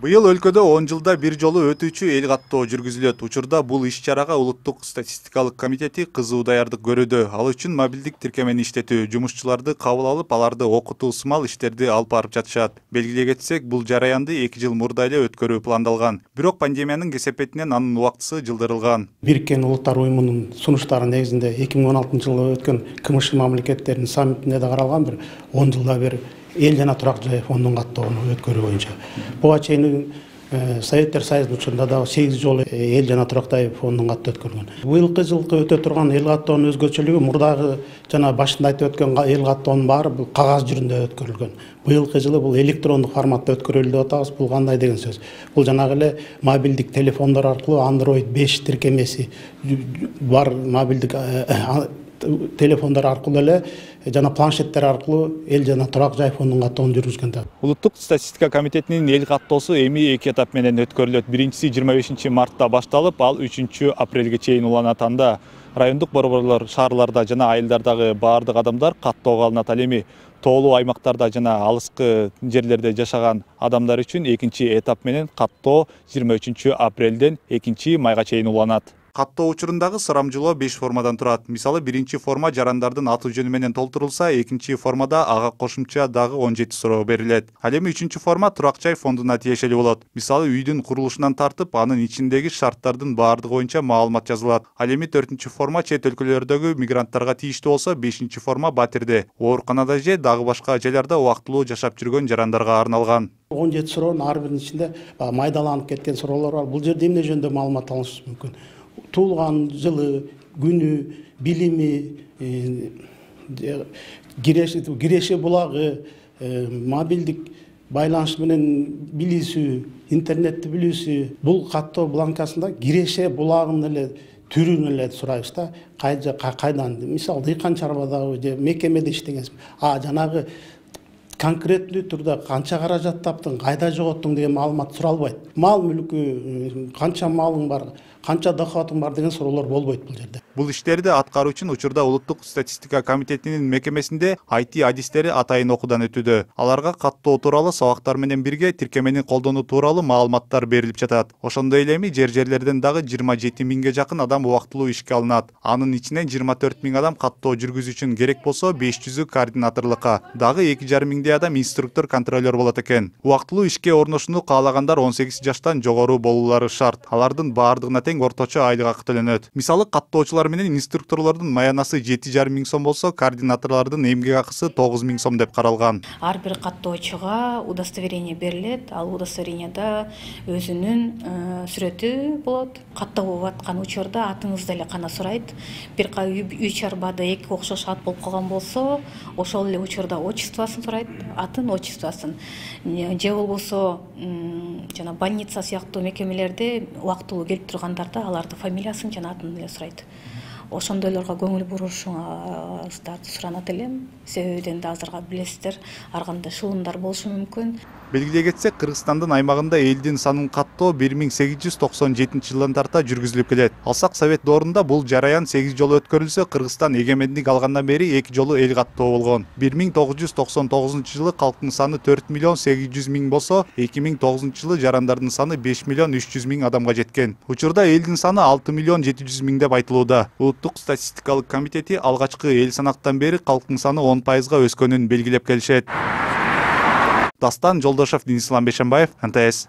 Быйыл өлкөдө 10 жылда бир жолу өтүүчү эл каттоо жүргүзүлөт. Учурда бул иш-чарага Улуттук статистикалык комитети кызуу даярдык көрүүдө. Ал үчүн мобилдик тиркемени иштетүү, жумушчуларды кабыл алып, аларды окутуу сымал иштерди алып барып жатышат. Белгилей кетсек, бул жараянды 2 жыл мурда эле өткөрүү пландалган. Бирок пандемиянын кесепетинен анын убактысы жылдырылган. Бириккен Улуттар уюмунун сунуштары негизинде 2016-жылы өткөн КМШ мамлекеттеринин саммитинде да каралган бир 10 жылда бир эл жана турак жай фондун каттоону өткөрүү боюнча. Буга чейин Советтер Союзунун учурунда да 8 жолу эл жана турак жай фондун каттоо өткөрүлгөн. Быйылкы жылкы өтө турган эл каттоонун өзгөчөлүгү мурдагы жана башында айтып өткөн эл каттоонун баары бул кагаз жүрүндө өткөрүлгөн. Быйылкы жылы бул электрондук форматта өткөрүлдү деп атабыз. Бул кандай деген сөз? Бул жанагы эле мобилдик телефондор аркылуу Android 5 тиркемеси бар мобилдик телефондар аркылуу эле жана планшеттер аркылуу эл жана турак жай фондун каттоонун жүргүзгөн. Улуттук статистика комитетинин эл каттоосу эми 2 этап менен өткөрүлөт. Биринчиси 25 мартта башталып, ал 3 апрелге чейин уланат. Анда райондук борборлор, шаарларда жана айылдардагы баардык адамдар каттоого алынат. Ал эми тоолуу аймактарда жана алыскы жерлерде жашаган адамдар үчүн экинчи этап менен каттоо 23 апрелден 2 майга чейин уланат. Каттоо учурундагы сурамжылоо 5 формадан турат. Мисалы, биринчи форма жарандардын аты жөнү менен толтурулса, экинчи формада ага кошумча дагы 17 суроо берилет. Ал эми 3 форма турак жай фондуна тиешелүү болот. Мисалы, үйдүн курулушунан тартып, анын ичиндеги шарттардын баардыгы боюнча маалымат жазылат. Ал эми 4 форма чет өлкөлөрдөгү мигранттарга тийиштүү болсо, 5 форма батирде, ооруканада же дагы башка жайларда убактылуу жашап жүргөн жарандарга арналган. 17 суроонун ар биринин ичинде майдаланып кеткен суроолор бар. Бул жерде эмне жөнүндө маалымат алыш мүмкүн? Туулган жылы, күнү, билими, киреше булагы, мобилдик байланыш менен билүүсү, интернетти билүүсү. Бул каттоо бланкасында киреше булагынын эле түрүн эле сурайбыз да. Кайдан, мисалы, дыйкан чарбадагы же мекемеде иштегенсиз. Жанагы конкреттүү түрдө канча каражат таптың, кайда жоготтуң деген маалымат суралбайт. Мал мүлкү, канча малың бар, канча доходуң бар деген суроолор болбойт бул жерде. Бул иштерди аткаруу үчүн учурда Улуттук статистика комитетинин мекемесинде IT адистери атайын окуудан өтүүдө. Аларга каттоо тууралуу сабактар менен бирге тиркемени колдонуу тууралуу маалыматтар берилип жатат. Ошондой эле эми жерлерден дагы 27 миңге жакын адам убактылуу ишке алынат. Анын ичинен 24 миң адам каттоо жүргүзүү үчүн керек болсо, 500-ü координаторлукка, дагы 2,5 миңдей адам инструктор, контролер болот экен. Убактылуу ишке орношууну каалагандар 18 жаштан жогору болуулары шарт. Алардын баардыгына тең орточо айлык акы төлөнөт. Мисалы, каттоочулар менен инструкторлордун маянасы 7,5 миң сом болсо, координаторлордун эмгек акысы 9 миң сом деп каралган. Ар бир каттоочуга удостоверение берилет. Ал удостоверениеда өзүнүн сүрөтү болот. Каттоо аткан учурда атыңызды эле гана сурайт. Бир үй чарбада 2 окшош ат болуп калган болсо, ошол эле учурда отчествосын сурайт, атын, отчествосын. Же болбосо жана больница сыяктуу мекемелерде убактылуу келип тургандарда алардын фамилиясын жана атын эле сурайт. Ошондойлорго көңүл бурушуңуздарды суранат элем. Себебиден да азыркы билесиздер, ар кандай шылымдар болушу мүмкүн. Белгилей кетсек, Кыргызстандын аймагында элдин санын каттоо 1897 жылдан тарта жүргүзүлүп келет. Алсак Совет доорунда бул жараян 8 жолу өткөрүлсө, Кыргызстан эгемендик алгандан бери 2 жолу эл каттоо болгон. 1999 жылы калктын саны 4 миллион 800 миң болсо, 2009 жылы жарандардын саны 5 миллион 300 миң адамга жеткен. Учурда элдин саны 6 миллион 700 миң деп айтылууда. Улуттук статистикалык комитети алгачкы эл санактан бери калктын саны 10%га өскөнүн белгилеп келишет. Дастан Жолдошев, Денис Ламбешенбаев, НТС.